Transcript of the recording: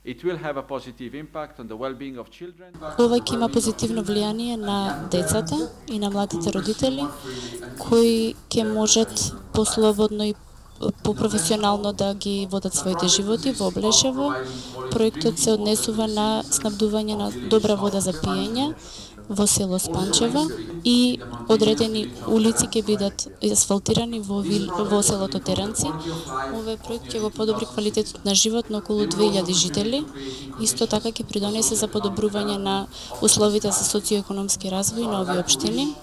It will have a positive impact on the well-being of children. Ова ќе има позитивно влијание на децата и на младите родители кои ќе можат послободно и попрофесионално да ги водат своите животи во Облешево. Проектот се однесува на снабдување на добра вода за пиење во село Спанчева и одредени улици ќе бидат асфалтирани во селото Теранци. Овој проект ќе го подобри квалитетот на живот на околу 2000 жители. Исто така ќе придонесе за подобрување на условите за социоекономски развој на овие општини.